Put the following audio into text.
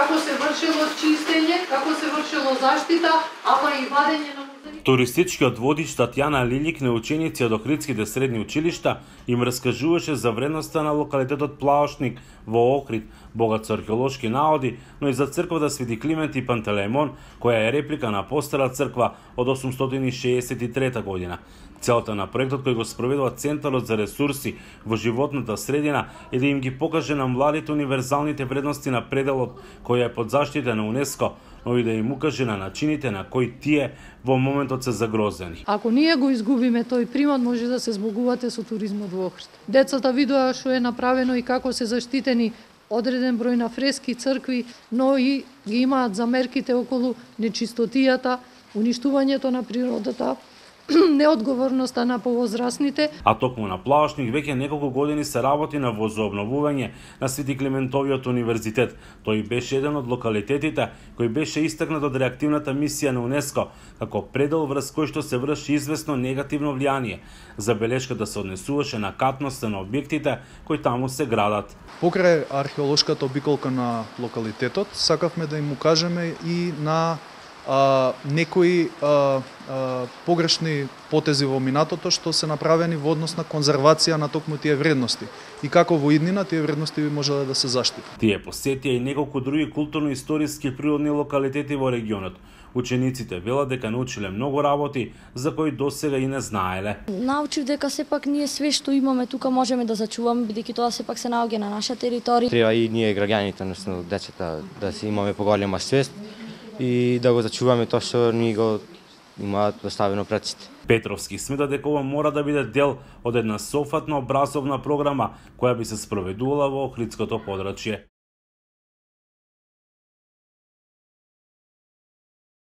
како се вршило чистење, како се вршило заштита, ама и вадење на музеи. Туристичкиот водич Татјана Лилик на ученици од Охридските средни училишта им раскажуваше за вредноста на локалитетот Плаошник во Охрид, богат со археолошки наоди, но и за црквата Свети Климент и Пантелеимон, која е реплика на постара црква од 863 година. Целта на проектот кој го спроведува Центарот за ресурси во животната средина е да им ги покаже на младите универзалните вредности на пределот која е под заштита на УНЕСКО, но и да им укаже на начините на кои тие во моментот се загрозени. Ако ние го изгубиме тој примат, може да се збогувате со туризмот во Охрид. Децата видоа што е направено и како се заштитени одреден број на фрески, цркви, но и ги имаат замерките околу нечистотијата, уништувањето на природата, неодговорноста на повозрасните. А токму на Плаошник веќе неколку години се работи на возобновување на Свети Климентовиот универзитет. Тој беше еден од локалитетите кој беше истакнат од реактивната мисија на УНЕСКО како предел врз кој што се врши известно негативно влијание. Забелешката се однесуваше на катноста на објектите кои таму се градат. Покрај археолошката обиколка на локалитетот, сакавме да им укажеме и на некои погрешни потези во минатото што се направени во однос на конзервација на токму тие вредности и како во иднина тие вредности би можеле да се заштитат. Тие посетија и неколку други културно-историски природни локалитети во регионот. Учениците велат дека научиле многу работи за кои досега и не знаеле. Научив дека сепак ние све што имаме тука можеме да зачуваме, бидејќи тоа сепак се наоѓа на наша територија. Треба и ние граѓаните, односно децата, да се имаме поголема свест и да го зачуваме тоа што ни го имаат поставено пред сите. Петровски смета дека ова мора да биде дел од една софатна образовна програма која би се спроведувала во Охридското подрачје.